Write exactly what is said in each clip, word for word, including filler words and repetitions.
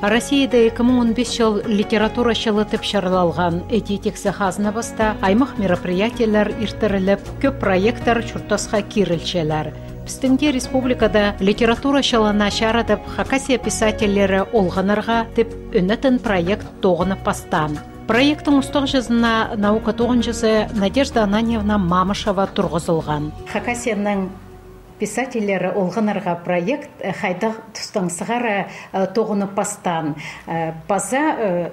Россияда ікі муң он пис чыл литература чылы тіп чарлалған. Іди тиксі хазна паста аймах мероприятиелер иртіріліп, кӧп проекттер чуртасха кирілчелер. Пістің дее республикада литература чылына чарадып, Хакасия писательлері олғанарға тіп ӧнетін проект тоғынып пастаан. Проекттің устағҷызына наука тоғынҷызы Надежда Ананьевна Мамышева турғызылған. Хакасияның писательлері олғанарға проект, э, хайдағ тустаң сығара, э, тоғынып пастаан, э, паза, э,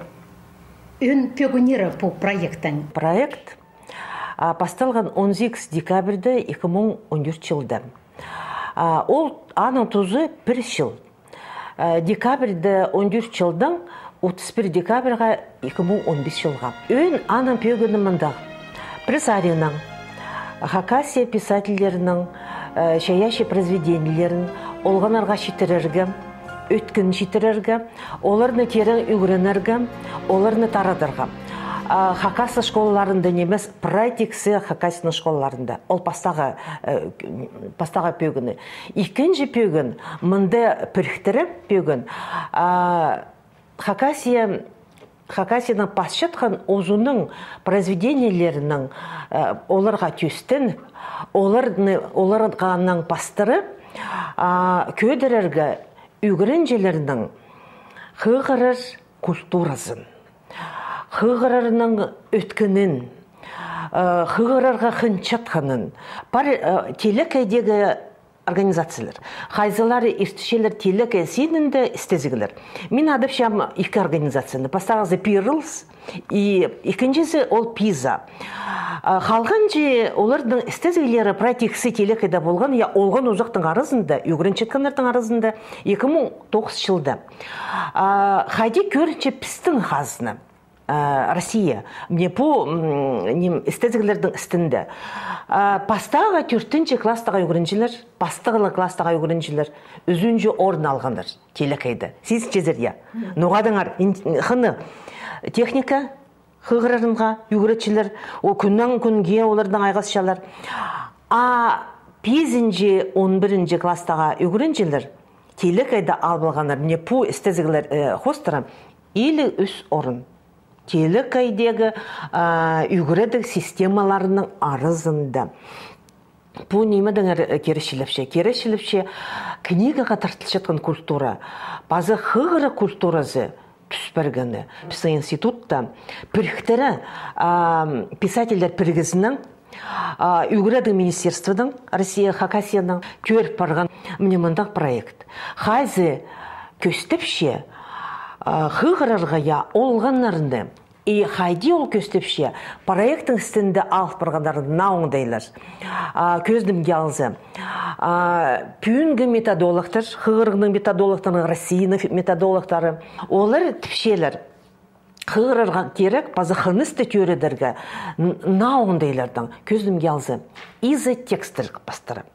ӧӧн пӧгіннері пу проекттің. Проект, а, пасталған он сигіс декабрьде ікі муң он тӧрт чылда. А, ол аның тузы пір чыл. Э, декабрьде он тӧрт чылдаң отыс пір декабрьға ікі муң он пис чылға. Ӧӧн аның пӧгіні мындағ. Пір саринаң Хакасия писательлерінің, э, чайаачы произведениелерін олғанарға читірерге, ӧткін читірерге, оларны тирең ӱгренерге, оларны тарадарға. А, хакас школаларында нимес, прай тиксі Хакасияның школаларында. Ол пастағы, э, пастағы пӧгіні. Ікінҷі пӧгін, мында піріктіре пӧгін, а, Хакасия, Хакасияның пасчатхан узуның произведениелерінің, э, оларға тӧстеніп, оларны, оларға анаң пастыра, а, кӧдірерге ӱгренҷілернің хығырар культуразын, хығырарның ӧткінін, э, хығырарға хынчатханын, пар, э, телекейдегі организациялар. Хайзылары иртчелер телекей синінде істезіглер. Мин адапчам ікі организацияны. Пастағызы Пирылыс, и ікінҷізі ол Пиза. А, халғанҷы оларның істезіглері прай тиксі телекейде полған, я, олған узахтың аразында, ӱгренчеткеннернің аразында, ікі муң тоғыс чылда. А, хайди кӧрінче пістің хазна, а, Россия, міне пу, м, ним, істезіглернің істінде. А, пастағы тӧртінҷі класстағы ӱгренҷілер, пастағы класстағы ӱгренҷілер ӱзінҷі орын алғаннар телекейде. Сизінчезер, я. Ноға даңар, ин-, хыны техника хығырарынға ӱгретчілер, о, кӱннең кӱнге оларның айғасчалар. А пизінҷі, он пірінҷі класстағы ӱгренҷілер телекейде алып алғаннар, міне пу істезіглер, э, хоостыра, илиг ӱс орын. Телекейдегі, а, ӱгредіг системаларының аразында. Пу ниме деңер, э, киречілепче? Киречілепче книгаға тартылчатхан культура, паза хығырығ культуразы тӱс пиргені. Пістің институтта піріктіре, а, писательлер пірігізінің, а, ӱгредіг министерствоның, Россия, Хакасияның кӧріп парған міне мындағ проект. Хайзы кӧстепче, а, хығырарға, я, олғаннарны. И хайди ол кӧстепче, проекттің істінде алып парғаннар наа оңдайлар. А, кӧзідімге алза, а, пӱӱнгі методологтар, хығырығның методологтары, Россияның фи-, методологтары, олар тіпчелер, хығырарға кирек, паза хынысты тӧредерге н-, наа оңдайлардаң. Кӧзідімге алза, изотекстер пастыра.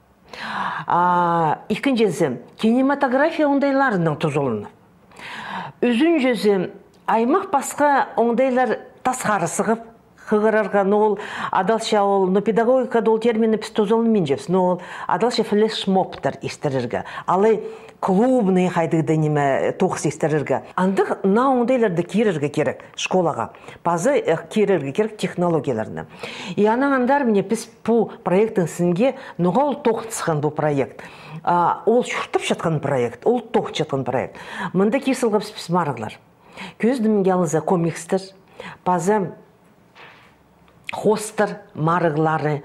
А, ікінҷізі, кинематография оңдайларынаң тузаланып. Ӱзінҷізі, аймах-пасха оңдайлар тасхары сығып, хығырарға, но ол адалча ол, но педагогикада ол терминні піс тузаланминчабыс, но ол адалча флешмобтар иртірерге, алай клубный хайдағ-да ниме, тоғыс иртірерге. Андағ наа оңдайларды кирерге кирек школаға. Паза, э, кирерге кирек технологияларны. И анаң андар, міне, піс пу проекттің сінге, ноға ол тоғынысхан пу проект. А, ол чуртапчатхан проект, ол тоғынчатхан проект. Мында кир салғабыс піс марығлар. Кӧзідімге алза, комикстер, паза хоостар марығлары.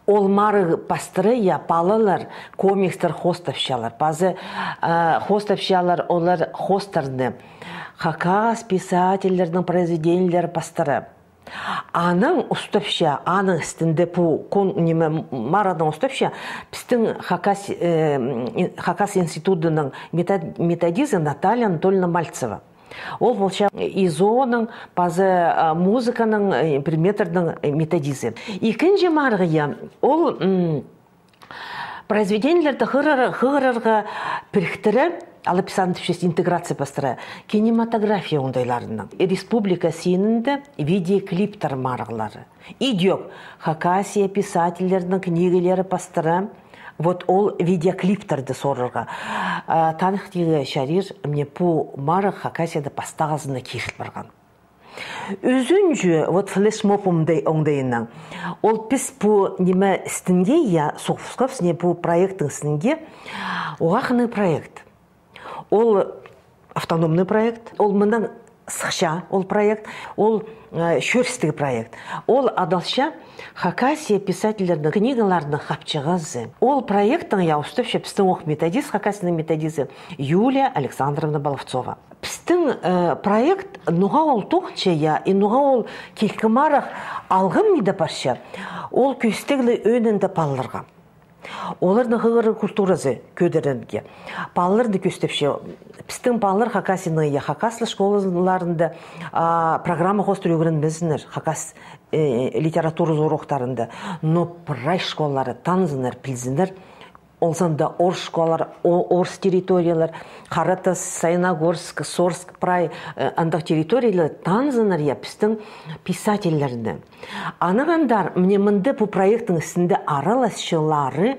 Ол марығ пастыра, я, палалар комикстер хоостапчалар. Паза, а, хоостапчалар олар хоостарны. Хакас писательлернің произведениелері пастыра. Анаң устапча, аның істінде пу кон-, ниме, марығның устапча, пістің Хакас, э, м, Хакас институтының метод-, методизі Наталья Анатольевна Мальцева. Ол полча ИЗО-ның, паза, а, музыканың, э, предметтернің, э, методизі. Ікінҷі марығ, я, ол, м, произведениелерді хығырар-, хығырарға піріктіре, алып сандыпчас интеграция пастыра, кинематография оңдайларынаң. Республика синінде видеоклиптер марығлары. Идӧк Хакасия писательлерінің книгілері пастыра, Вот ол видеоклиптарны сорарға. А, таныхтирға чарир, мына пу марығ Хакасияда пастағызына киріл парған. Ӱзінҷі, вот флешмоб оңдай-, оңдайынаң. Ол піс пу ниме істінге, я, соғысхабыс, мына пу проекттің істінге, уғаа хынығ проект. Ол автономный проект, ол мынаң сыхча ол проект, ол, э, чӧрістіг проект. Ол адалча Хакасия писательлерінің книгаларының хапчығызы. Ол проекттің, я, устапча пістің ох методист, Хакасияның методизі Юлия Александровна Баловцова. Пістің, э, проект ноға ол тоғынча, я, и ноға ол килкі марығ алғым иде парча, ол кӧстеглі ӧӧнінде палаларға. Оларның хығырығ культуразы кӧдірерге. Палаларны кӧстепче. Пістің палалар Хакасияның, я, хакас тілі школаларында, а, программа хоостыра ӱгренмезіннер, хакас, э, литературазы уроктарында. Но прай школалары танзыннар, пілзіннер. Ол санда орыс школалар, о-, орыс территориялар, Харатас, Саяногорск, Сорск, прай, э, андағ территориялар танзыннар, я, пістің писательлерні. Анаң андар, мына мында пу проекттің істінде араласчылары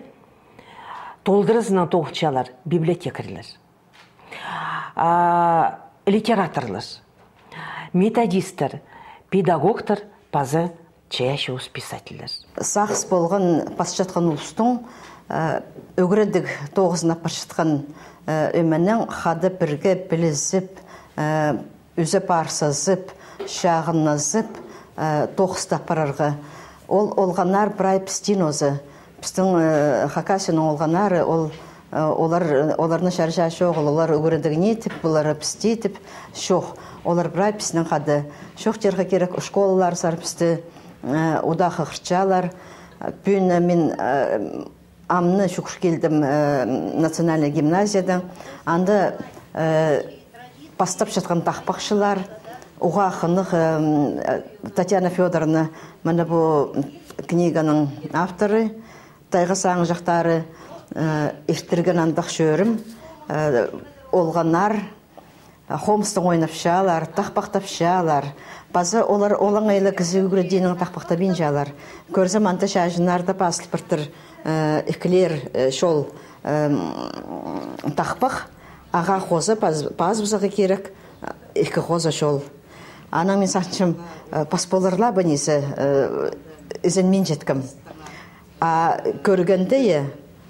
толдыразынаң тоғынчалар библиотекарьлар, а, литераторлар, методисттер, педагогтар паза чайаачы ус писательлер. Сағыс полған пасчатхан улустың, э, ӱгредіг тоғызына парчатхан, э, ӧменең хада пірге пілізіп, э, ӱзе парсазып, чағынназып, э, тоғыстап парарға. Ол олғаннар прай пістең оза. Пістің, э, Хакасияның олғаннары, ол, э, олар, оларны чарыҷаң чоғыл, олар ӱгредіг ни тіп, олар пісті тіп, чох. Олар прай піснең хада. Чоохтирға кирек, школалар сар пісті, э, удаа хығырчалар. Пӱӱн мин, э, амны чӱгӱр килдім, э, национальный гимназиядаң. Анда, э, пастапчатхан тахпахчылар, уғаа хынығ, э, Татьяна Фёдоровна, мына пу книганың авторы, «Тайға сағынҷахтары», э, иртірген андағ чӧрім, э, олғаннар, хомыстаң ойнапчалар, тахпахтапчалар. Паза олар олаңай ла кізі ӱгредиинең тахпахтабинчалар. Кӧрзем, анда чааҷыннарда пазыл партыр, э, ікілер, э, чол, эм, тахпах, ағаа хоза паз-, пазыбызарға кирек, э, ікі хоза чол. Анаң мин сағынчам, э, пас полар ла ба ни зе, э, ізенминчеткем. А кӧргенде, я,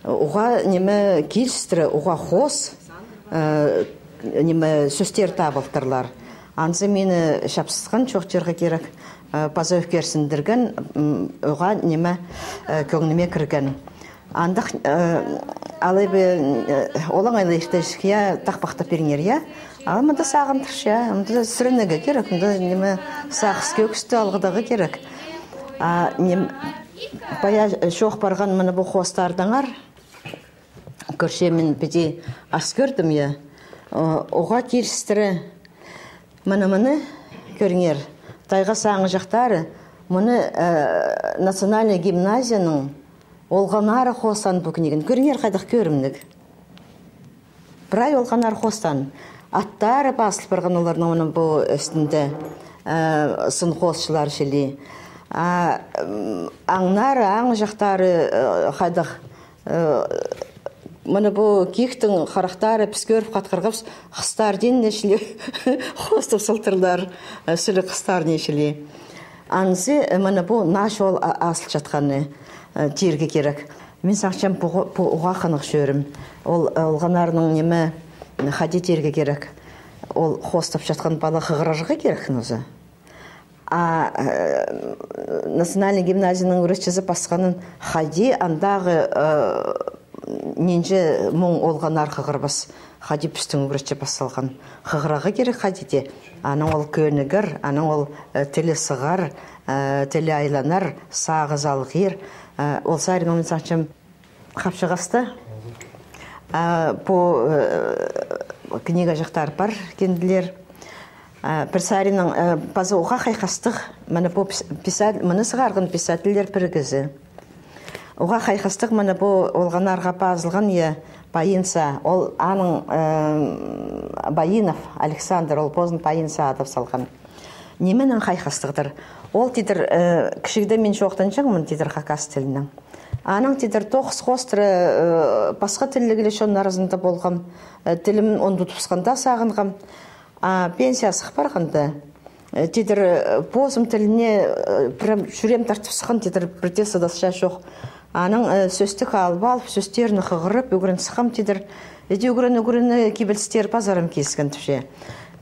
уғаа ниме килістіре, уғаа хоос, э, ниме сӧстер табылтырлар. Анзы мині чапсысхан чоохтирға кирек, э, паза ӧкерсіндірген, м, уғаа ниме, э, кӧңніме кірген. Андағ, э, алай ба, э, олаңай ла иртірче, я, тахпахтап пиріңер, я. Ал мында сағындырча, мында сӱрінерге кирек, мында ниме, сағыс кӧкісті алғыдарға кирек. А, ним, пая, э, чоох парған мына пу хоостардаңар. Кӧрчем, мин піди ас кӧрдім, я. О, уғаа килістіре. Мына, мына, кӧріңер. «Тайға сағынҷахтары», мына, э, национальный гимназияның олғаннары хоостаан пу книганы. Кӧріңер, хайдағ кӧрімніг. Прай олғаннар хоостаан. Аттары пазыл парған оларның мына пу ӱстӱнде, э, сын хоосчылар чіли. А, м, аңнары, аңҷахтары, э, хайдағ, э, мына пу киктің харахтары піс кӧріп хатхырғабыс, хыстар дее ниме чіли хоостап салтырлар, э, сіліг хыстар ниме чіли. Анзы, э, мына пу наа чол а-, азылчатханы, э, тирге кирек. Мин сағынчам, пу, пу уғаа хынығ чӧрім. Ол, э, олғаннарның ниме, хайди тирге кирек. Ол хоостапчатхан пала хығырарға кирек, ноза. А, э, национальный гимназияның ӱгретчізі пасханын, хайди андағы, э, нинҷе муң олғаннар хығырбас. Хайди пістің ӱгретчі пас салған. Хығырарға кирек хайди дее. Анаң ол кӧнігер, анаң ол, э, тілі сығар, э, тілі айланар, сағызы алғир. Э, ол саринаң мин сағынчам, хапчығаста, а, пу, э, книгаҷахтар пар кинділер. А, пір саринаң, э, паза уғаа хайхастығ, мына пу пис-, писатель, мыны сығарған писательлер пірігізі. Уғаа хайхастығ, мына пу олғаннарға пазылған, я, Паинса, ол аның, э, Баинов Александр, ол позын Паинса адап салған. Нименең хайхастығдыр? Ол тидір, э, кічігде мин чоохтанҷаңмын тидір хакас тілінең. Анаң тидір тоғыс хоостыра, э, пасха тілліг ле чон аразында полғам, э, тілім он тутпысханда сағынғам. А пенсия сых парғанда, э, тидір, э, позым тіліне, э, прям чӱреем тартып сыххан, тидір пірдее сыдасча чох. Анаң, э, сӧстік алып алып, сӧстерні хығырып, ӱгрен сыххам тидір. Іди ӱгрен, ӱгрен, э, кибелістер пазарым киліскен тіпче.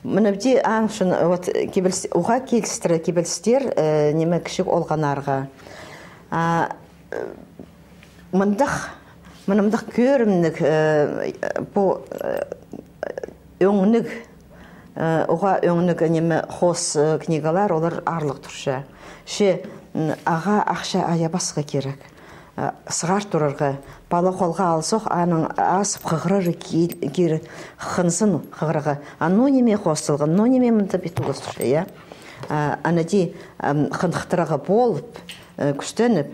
Мына піди аң ӱчӱн, вот, кибеліс-, уғаа килістіре кибелістер, э, ниме, кічіг олғаннарға. А, э, мындағ, мына мындағ кӧрімніг, э, пу, э, ӧңніг, э, уғаа ӧңніг ниме, хоос, э, книгалар, олар аарлығ турча. Че, м, ағаа ахча ая пасха кирек. Э, сығар турарға, пала холға алзох, аның азып хығырары ки-, кирек, хынзын хығырарға. А ну ниме хоосталған, ну ниме мында пит улус турча, я? А, ана ти, ам, хынхтырарға полып, э, кӱстеніп,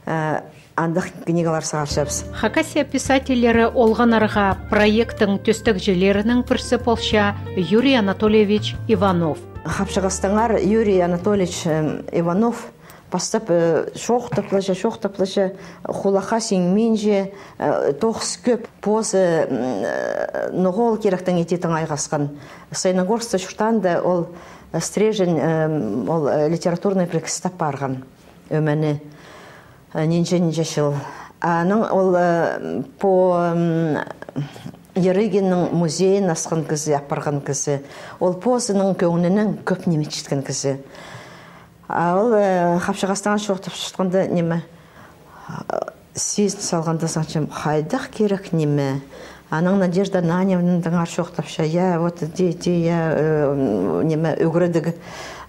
э, андағ книгалар сығарчабыс. Хакасия писательлері олғаннарға проекттің тӧстегҷілерінің пірсі полча Юрий Анатольевич Иванов. Хапчағастаңар Юрий Анатольевич, эм, Иванов пастап, э, чоохтаплаҷа, чоохтаплаҷа, хулахха сиңминче, э, тоғыс кӧп позы, м, э, ноға ол киректең итетің айғасхан. Саяногорскта чуртаанда ол, э, Стрежень, эм, ол, э, литературный пірігіс тап парған. Ӧмені, э, нинҷе-нинҷе чыл. Аның ол, э, по, м, Ярыгинның музейін асхан кізі, апарған кізі. Ол позының кӧңнінең кӧп ниме читкен кізі. А ол, э, хапчағастаң чоохтап чатханда ниме, э, сизін салғанда, сағынчам, хайдағ кирек ниме. Анаң Надежда Ананьевнадаңар чоохтапча, я, вот, ти, ти, я, э, м, ниме, ӱгредіг,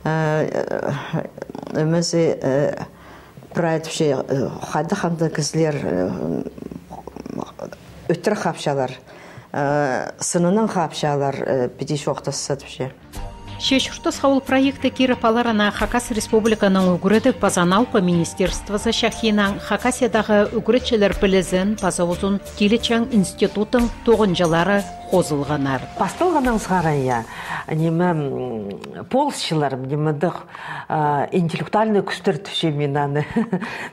э, э, ӧмезі, э, прай тіпче, э, хайдағ анда кізілер, э, ӧтіре хапчалар, э, сыннаң хапчалар, э, піди чоохтасса тіпче. Че чуртасха ол проектке киріп аларына Хакас Республиканың ӱгредіг паза наука министерствозы чахиинаң Хакасиядағы ӱгретчілер пілізін паза узун килечең институттың тоғынҷылары хозылғаннар. Пасталғаннаң сығара, я, ниме, м, полысчалар, ниме, дых, а, интеллектуальный кӱстер тіпчем мин аны.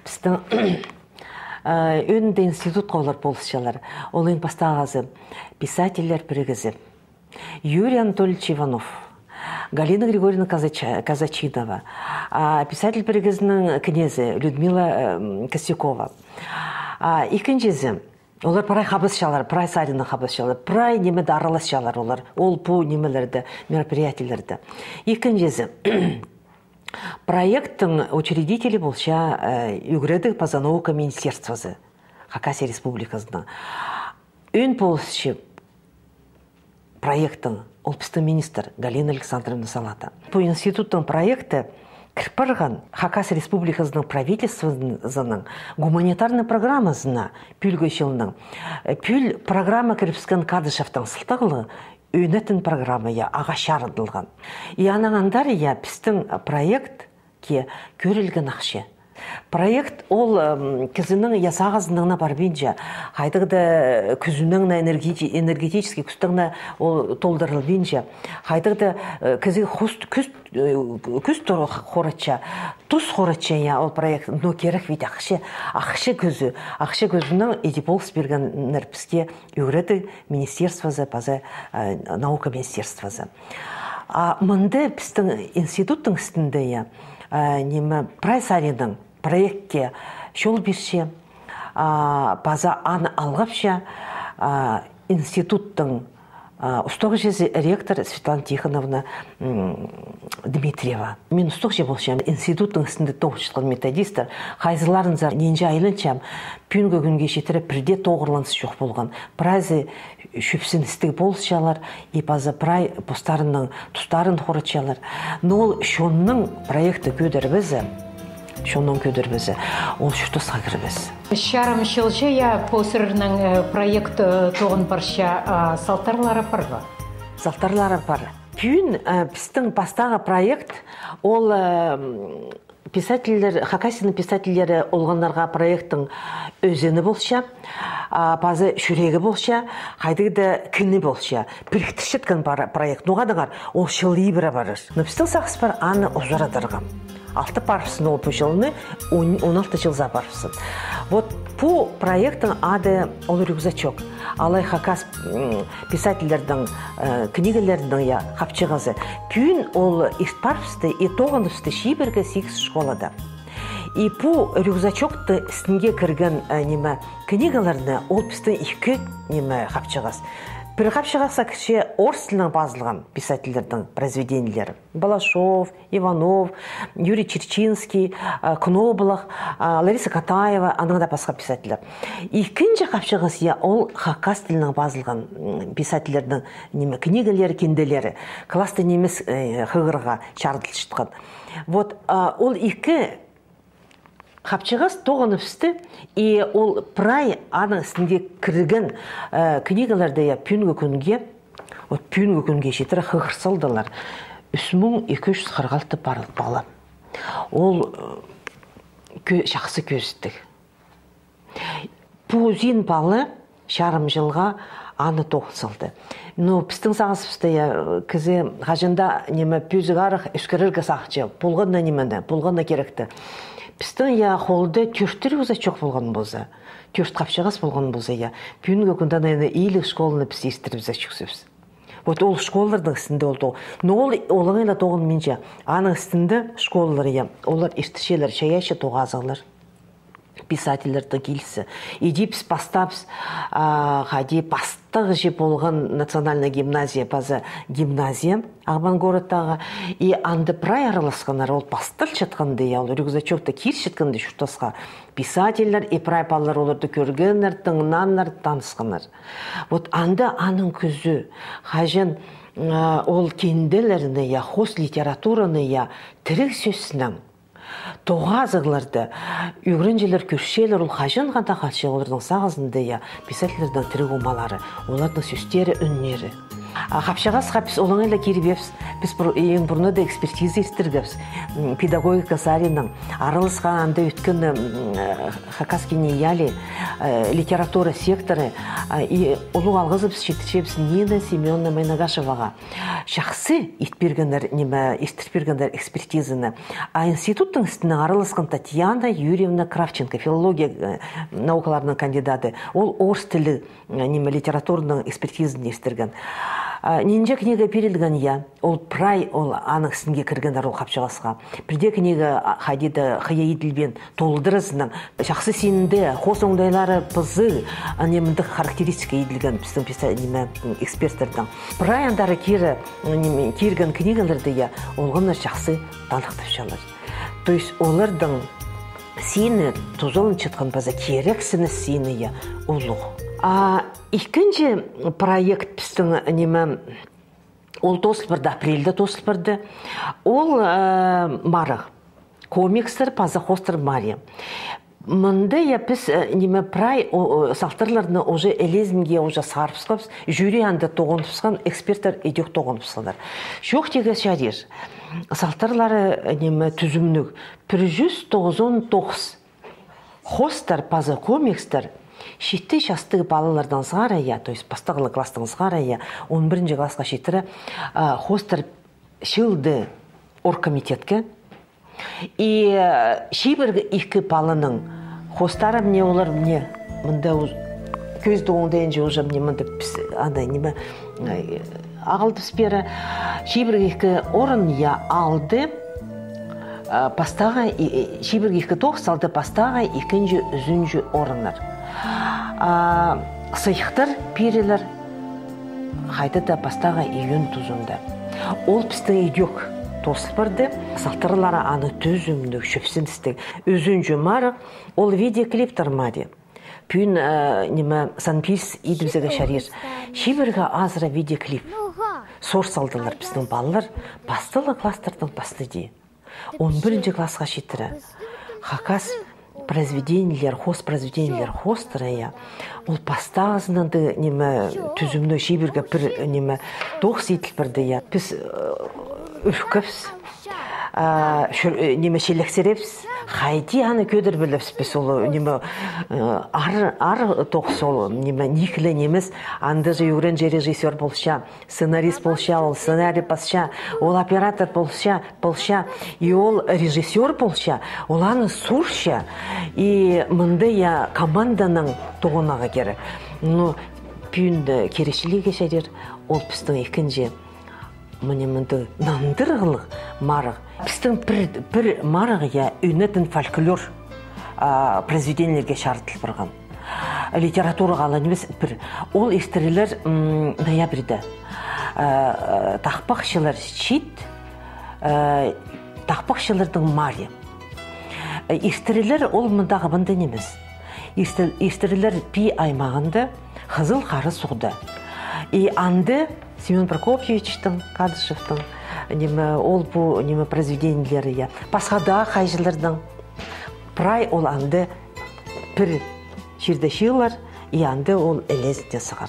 Пістің, а, ӧӧнінде институтха олар полысчалар. Ол иң пастағызы писательлер пірігізі. Юрий Анатольевич Иванов, Галина Григорьевна Казача-, Казачинова, а, писатель пірігізінің кнезі Людмила, м, Костякова. А, ікінҷізі, олар прай хабысчалар, прай саринаң хабысчалар, прай нимеде араласчалар олар, ол пу нимелерде, мероприятиелерде. Ікінҷізі, проекттің учредителі полча, э, ӱгредіг паза наука министерствозы Хакасия Республиказының. Ӧӧн полысчы проекттің, ол пістің министр Галина Александровна Салата. Пу институттың проекті кір парған Хакас Республиказының правительствозының гуманитарный программазына пӱӱлгі чылның. Э, пӱӱл программа кірібіскен Кадышевтің сылтағлығ, ӧнетін программа, я, ағаа чарыдылған. И анаң андар, я, пістің проект ке кӧрілген ахча. Проект ол, м, кізінің, я, сағызынаң на парбинча, хайдағ-да, э, кӱзінең на, энергети-, энергетический кӱстең на ол толдырылбинча, хайдағ-да, э, кізі хус-, кӱс, э, кӱс тур-, хоратча, тус хоратча, я, ол проект, но кирек ведь ахча, ахча кӱзі, ахча кӱзінең иди полыс пиргеннер піске ӱгредіг министерствозы паза, э, наука министерствозы. А мында пістің институттың істінде, я, а, ниме, прай саринаң проектке чол пирче, а, паза аны алғапча, а, институттың, а, устағҷызы, ректор Светлана Тихоновна, м, Дмитриева. Мин устағҷы полчам, институттың істінде тоғынчатхан методисттер, хайзыларынзар нинҷе айланчам, пӱӱнгі кӱнге читіре пірдее тоғырланыс чох полған. Прайзы чӧпсін істіг полысчалар, и паза прай постарының тустарын хоратчалар. Но ол чонның проектті кӧдірбезе, чонның кӧдірбезе, ол чуртасха кірбес. Чарым чылҷа, я, пу сірернің, э, проект, э, тоғын парча, а, салтарлары пар ба? Салтарлары пар. Пӱӱн, э, пістің пастағы проект, ол, э, м, писательлер, Хакасияның писательлері олғаннарға проекттің ӧзені полча, а, паза чӱрегі полча, хайдағ-да кіні полча. Піріктірчеткен пара-, проект. Ноға даңар, ол чыл ибіре парар. Но пістің сағыс пар аны узарадарға. Алты парыбыссын ол пу чылны, он, он алты чыл за парыбыссын. Вот пу проекттің ады ол «Рюкзачок». Алай хакас, м, писательлернің, э, книгаларының, я, хапчығазы. Пӱӱн ол ирт парыбысты и тоғыныбысты чибіргі сигіс школада. И пу рюкзачокты істінге кірген, э, ниме, книгаларны ол пістің ікі, ниме, хапчығас. Пір хапчығасха кірче орыс тілінең пазылған писательлернің произведениелері. Балашов, Иванов, Юрий Чирчинский, а, Кноблах, а, Лариса Катаева, анаң даа пасха писательлер. Ікінҷі хапчығас, я, ол хакас тілінең пазылған, м, писательлернің, ниме, книгалары, кинделері. Класста нимес, э, хығырға чарыдылчатхан. Вот, а, ол ікі хапчығас тоғыныбысты, и ол прай аның істінге кірген, э, книгаларны, я, пӱӱнгі кӱнге, вот пӱӱнгі кӱнге читіре хығыр салдылар. Ӱс муң ікі чӱс хырых алты пар-, пала. Ол, э, кӧ-, чахсы кӧзідіг. Пу узин пала чарым чылға аны тоғын салды. Но пістің сағызыбыста, я, кізі хаҷан даа, ниме, пӧзік арах ӧскірерге сағынча, полған на нимені, полған на киректі. Пістің, я, холда тӧрт рюкзачок полған полза, тӧрт хапчығас полған полза, я, пӱӱнгі кӱнде, наверное, илиг школаны піс иртірібізерҷікпіс. Вот ол школаларның істінде ол тоғ-, но ол олаңай ла тоғынминча. Аның істінде школалар, я, олар иртірчелер чайаачы тоғазығлар. Писательлернің килісі. Иди піс пастаабыс, а, хайди, пастағҷы полған национальная гимназия, паза гимназия Ағбан городтағы. И анда прай араласханнар, ол пасталчатханда, я, ол рюкзачокты кирчеткенде чуртасха. Писательлер и прай палалар оларды кӧргеннер, тыңнаннар, танысханнар. Вот анда аның кӱзі, хаҷан, а, ол кинделерні, я, хоос литератураны, я, тіріг сӧснең тоғазығларды ӱгренҷілер кӧрчелер, ол хаҷанға даа халча оларның сағызында, я, писательлернің тіріг омалары, оларның сӧстері, ӱннері. А хапчығасха піс олаңай ла кирбеебіс, піс пур-, иң пурнада экспертиза иртіргебіс. М, педагогика саринаң араласхан анда ӧткені, м, э, хакас киниялии, э, литература секторы, а, и улуғ алғызыбыс читірчебіс Нина Семёновна Майнагашеваға. Чахсы ит пиргеннер, ниме, иртір пиргеннер экспертизаны. А институттың істінең араласхан Татьяна Юрьевна Кравченко, филология, э, наукаларының кандидаты. Ол орыс тілі, э, ниме, литератураның экспертизаны иртірген. А, нинҷе книга пирілген, я. Ол прай, ол аның істінге кіргеннер ол хапчығасха. Пірдее книга, а, хайди даа хыйа иділбеен, толдыразынаң. Чахсы синде, хоос оңдайлары пызығ, а, ниме, мындағ характеристика иділген пістің писа-, ниме, эксперттернің. Прай андар кире, ниме, кирген книгаларны, я, олғаннар чахсы таныхтапчалар. То есть оларның сині, тузаланчатхан паза кирексініс сині, я, улуғ. А ікінҷі проект пістің, ниме, ол тоозыл парды, апрельде тоозыл парды. Ол, э, марығ. Комикстер паза хоостар марии. Мында, я, піс, э, ниме, прай, о, о, салтарларны уже ілезінге уже сарыбысхабыс, жюри анда тоғыныбысхан, эксперттер идӧк тоғыныбысханнар. Чоохтирға чарир. Салтарлары, э, ниме, тӱзімніг. Пір чӱс тоғызон тоғыс. Хоостар паза комикстер читі частығ палалардаң сығара, я, то есть пастағлығ класстаң сығара, я, он пірінҷі классха читіре, а, хоостар чыылды оргкомитетке. И, э, чибіргі ікі паланың хоостары, міне, олар, міне, мында уз-, кӧзідіг оңдайынҷа уже, міне, мында піс, анда, ниме, э, ағылдыбыс пеер. Чибіргі ікі орын, я, алды, а, пастағы, и, и, чибіргі ікі тоғыс алды пастағы, ікінҷі, ӱзінҷі орыннар. А, сыйыхтар пирілер хайди даа пастағы июнь тузында. Ол пістің идӧк тоозыл парды, салтарлары аны тӱзімніг, чӧпсіністіг. Ӱзінҷі марығ, ол видеоклиптер марии. Пӱӱн, э, ниме, санпис идібізерге чарир. Чибіргі азыра видеоклип. Сор салдылар пістің палалар, пастағлығ класстардаң пастыди. Он пірінҷі классха читіре. Хакас произведениелер, хоос произведениелер хоостыра, я. Ол пастағызынаң даа, ниме, тӱзімніг, чибіргі пір, ниме, тоғыс иділ парды, я. Піс, э, ӱркебіс, а, чӱр-, э, ниме, чилексіребіс, Хайди аны кӧдір пілібіс піс, ол, ниме, э, ар, ар тоғыс ол, ниме, ниик ле нимес, анда же ӱгренҷі режиссёр полча, сценарист полча, ол сценарий пасча, ол оператор полча, полча, и ол режиссёр полча, ол аны суурча, и мында, я, команданаң тоғынарға кирек. Ну, пӱӱн дее киречіліг чарир, ол пістің ікінҷі. Мына мында нандырығлығ марығ. Пістің пір, пір марығ, я, ӧнетін фольклор, а, произведениелерге чарыдыл парған. Литератураға ла нимес пір. Ол иртірілер, м, ноябрьда. Э, тахпахчылар чиит, э, тахпахчыларның марии. Э, иртірілер ол мындағы мында нимес. Иртір-, иртірілер Пии аймағында, Хызыл Хара суғда. И анда Семён Прокопьевичтің, Кадышевтің, ниме, ол пу, ниме, произведениелері, я. Пасха даа хайҷыларның. Прай ол анда пір чирде чыылар, и анда ол ілезіне сығар.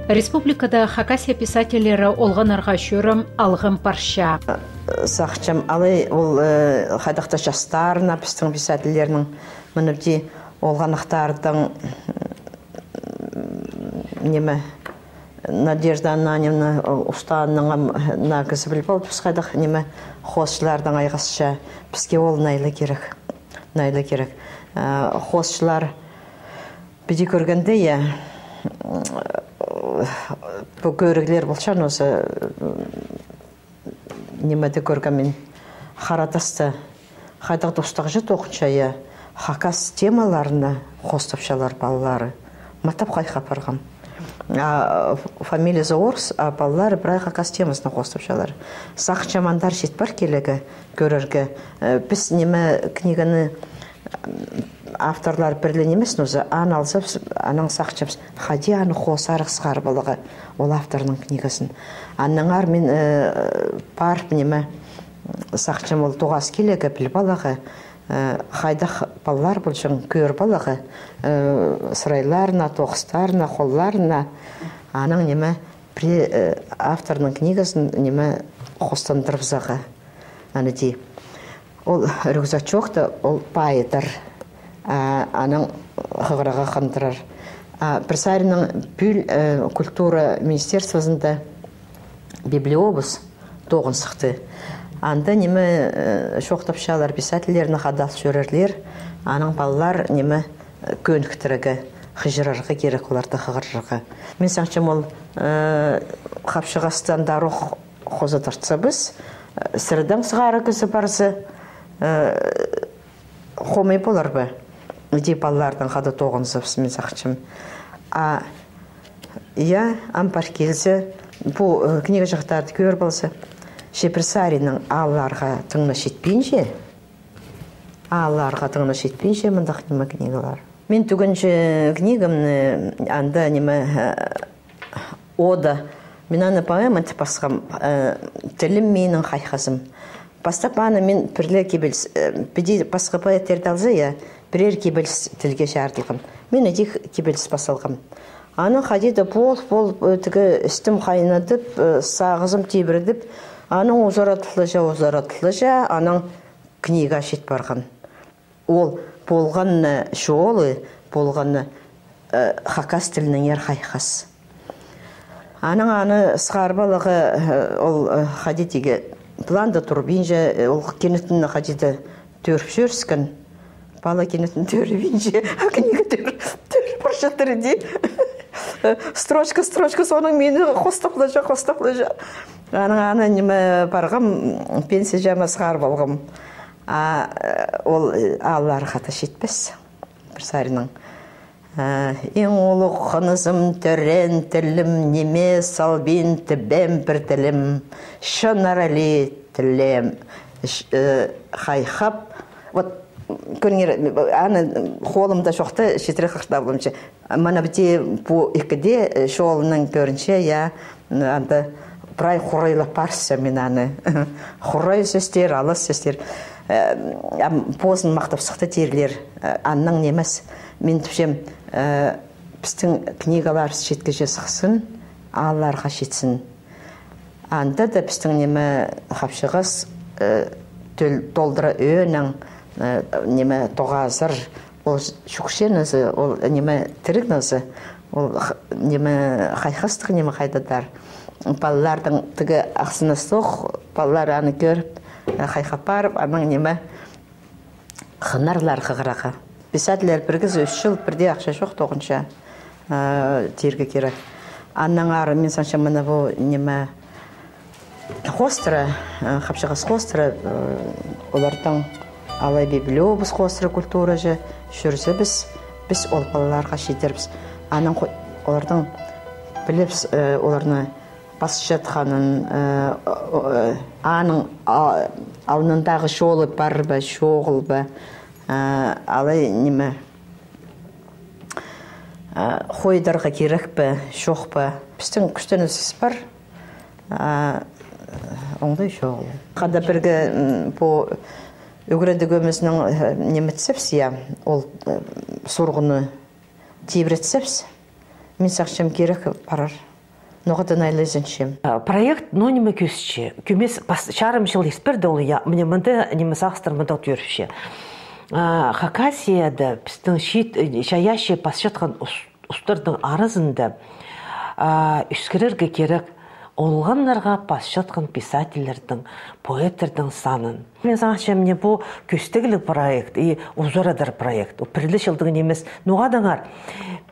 Республикада Хакасия писательлері олғаннарға чӧрім алғым парча. Сағынчам, алай ол, э, хайдағ-да частарына, пістің писательлернің, мына піди олғаннарның, ниме, Надежда Ананьевна, ол устааның ам, наа кізі піл полды, піс хайдағ, ниме, хоосчыларнаң айғасча, піске ол найлы кирек, найлы кирек. Э, хоосчылар піди кӧргенде, я, пу кӧріглер полча, нооза, нимеде кӧргем мин, Харатаста, хайдағ-да устағҷы тоғынча, я, хакас темаларына хоостапчалар палалары. Маттап хайхап парғам. А, ф-, фамилиязы орыс, а палалары прай хакас темазына хоостапчалар. Сағынчам, андар чит пар килерге, кӧрерге. Э, піс, ниме, книганы, м, авторлар пір ле нимес, нооза, аны алзабыс, анаң сағынчабыс, хайди аны хоосарах сығарып аларға, ол авторның книгазын. Аннаңар мин, э, парып, ниме, сағынчам, ол тоғас килерге, піліп аларға, э, хайдағ палалар полҷаң, кӧріп аларға, э, сырайларына, тоғыстарына, холларына, анаң, ниме, пір, э, авторның книгазын, ниме, хостандырыбызарға. Аны дее. Ол рюкзачокта, ол пайыдар. А, анаң хығырарға хандырар. А, пір саринаң пӱӱл, э, культура министерствозында библиобус тоғын сыхты. Анда, ниме, э, чоохтапчалар, писательлерні хада ал чӧрерлер, анаң палалар, ниме, кӧніктірерге, хығырарға кирек оларны, хығырарға. Мин сағынчам, ол, э, хапчығасты андар ох хоза тартсабыс, э, сірердең сығара кізі парза, э, хомай полар ба? Иди палаларнаң хада тоғынзабыс, мин сағынчам. А, я, ам пар килзе, пу, э, книга чоохтарды кӧріп алза, че пір саринаң аалларға тың на читпинче, аалларға тың на читпинче мындағ, ниме, книгалар. Мин тӱгенҷі книгамны, анда, ниме, э, ода. Мин аны поэма тіп пасхам, э, «Тілім — минің хайхазым». Пастап аны мин пір ле кибеліс, э, піди пасха поэттерді алза, я, пірер кибеліс тілге чарыдылған. Мин іди кибеліс пас алғам. Анаң хайди-да пол-пол, э, тігі істім хайнадып, э, сағызым тибіредіп, анаң узарадылча, узарадылча, анаң книга чит парған. Ол полған на чолы, полған на, э, хакас тілінеңер хайхас. Анаң аны сығарып аларға, э, ол, э, хайди тигі, планда турбинча, э, ол кинетін хайди-да тӧріп чӧріскен. Пала кинетін тӧрібинче, а книга тӧр-, тӧріп парчатыр иди. Э, строчка, строчка, соонаң мині хостаплаҷа, хостаплаҷа. Анаң аны, ниме, парғам, пенсияҷа ма сығарып алғам. А, э, ол, э, аалларға хада читпес. Пір саринаң. Э, иң улуғ хынызым, тӧреен тілім, ниме салбин тібем пір тілім, чыннар али тілем, ш-, э, хайхап. Вот, кӧріңер, аны холымда чохта, читіре хығыртабылымча. Мына піди пу ікіде, э, чолынаң кӧрінче, я, анда прай хурайлап парча мин аны. Хурай сӧстер, алыс сӧстер. Э, ам позын махтап сыхты тирлер. Э, аннаң нимес. Мин тіпчем, э, пістің книгаларыбыс читкеже сыхсын, аалларға читсін. Анда даа пістің, ниме, хапчығас, э, төл-, толдыра ӧӧнең Э, ниме, тоғазар, ол чӱкче ноза, ол, ниме, тіріг ноза, ол х-, ниме, хайхастығ, ниме, хайдағ-да. Палаларның тігі ахсыныстығ, палалар аны кӧріп, э, хайхап парып, анаң, ниме, хынарлар хығырарға. Писательлер пірігізі ӱс чыл пірдее ахча чох тоғынча, э, тирге кирек. Аннаңар, мин сағынчам, мына пу, ниме, хоостыра, э, хапчағас хоостыра, э, оларның алай пілебіс, хоостыра культура чи чӧрзе, піс, піс ол палаларға читірербіс. Анаң хо-, оларның пілербіс, э, оларны пасчатханын, э, о-, о-, аның, а, алнындағы чолы пар ба, чоғыл ба, э, алай, ниме, а, хойдарға кирек пе, чох па? Пістің кӱстенісібіс пар, а, оңдай чоғыл. Хада пірге, м, пу ӱгредігіміздің, э, ниме итсебіс, я, ол, э, сурығны тибіретсебіс, мин сағынчам, кирек парар. Ноға-да айланчам. А, проект, ну, ниме кӧзітче. Кӧмес пас-, чарым чыл ирт пирді ол, я, мына мында, ниме, сағыстар мында тӧріпче. А, Хакасияда пістің чиит, э, чайаачы пасчатхан ус-, устарның аразында, а, ӧскірерге кирек олғаннарға пасчатхан писательлернің, поэттернің санын. Мин сағынчам, мына пу кӧстегліг проект и узарадар проект. Ол пір ле чылдың нимес. Ноға тыңар?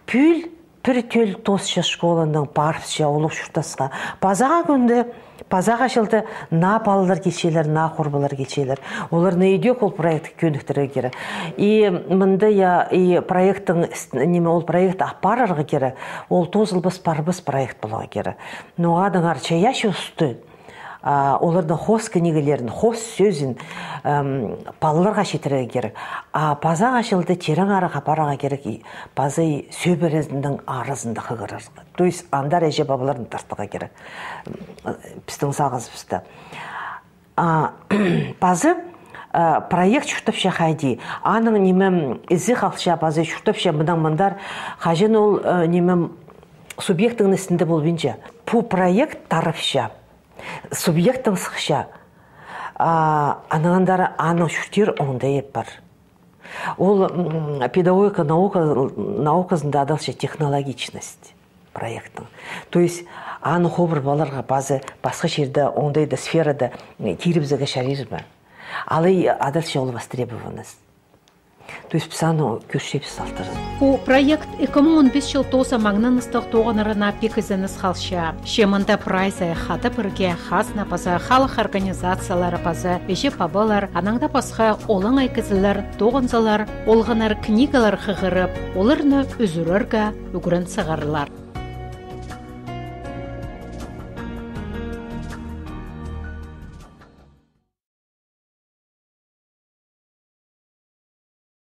Пӱӱл пір тӧл тоосча школанаң парыбысча улуғ чуртасха. Пазағы кӱнде, пазағы чылда наа палалар килчелер, наа хорбалар килчелер. Оларны идӧк ол проектке кӧніктірерге кирек. И мында, я, и проекттің іс-, ниме, ол проект апарарға кирек. Ол тоозылбас, парбас проект поларға кирек. Ноға тыңар, чайаачы усты, а, оларның хоос книгелерін, хоос сӧзін, ам, палаларға читірерге кирек. А пазағы чылда тирең ары апарарға кирек, и паза и сӧбірезінің аразында хығырарға. То есть андар іҷе-пабаларны тартарға кирек. М, пістің сағызыбыста. А, паза, а, проект чуртапча хайди. Аның, ниме, ізі халча, паза чуртапча мынаң мындар. Хаҷан ол, э, ниме, субъектінің істінде полбинча. Пу проект тарапча. Субъектің сыхча. А, анаң андар аның чуртир оңдайы пар. Ол, м, педагогика наука, науказында адалча технологичность проектің. То есть, аны хобыр паларға паза пасха чирде, оңдайда, сферада, м, кирібізерге чарир ба? Алай адалча ол востребованность. То есть піс аны кӧрчебіс алтырын. Пу проект ікі муң он пис чыл тооза маңнаныстығ тоғынарына пик ізеніс халча. Че мында прайзы хада пірге хазна паза халых организациялары паза іҷе-пабалар, анаң даа пасха олаңай кізілер тоғынзалар, олғаннар книгалар хығырып, оларны ӱзӱрерге ӱгрен сығарлар.